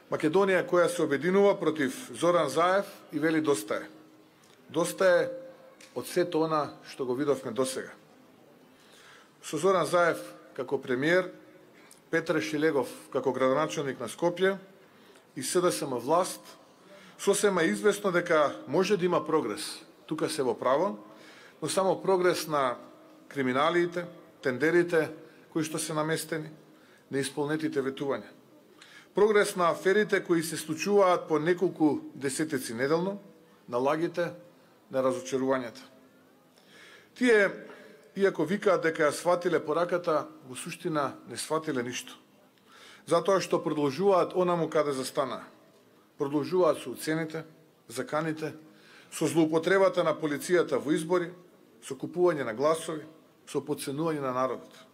Македонија која се обединува против Зоран Заев и вели доста е. Доста е од сето она што го видовме досега. Со Зоран Заев како премиер, Петре Шилегов како градоначалник на Скопје и СДСМ власт, сосема известно дека може да има прогрес. Тука се во право, но само прогрес на криминалиите, тендерите кои што се наместени, неисполнетите ветувања. Прогрес на аферите кои се случуваат по неколку десетици неделно, на лагите, на разочарувањата. Тие, иако викаат дека ја сватиле пораката, во суштина не сватиле ништо. Затоа што продолжуваат онаму каде застана. Продолжуваат со уцените, заканите, со злоупотребата на полицијата во избори, со купување на гласови, со потценување на народот.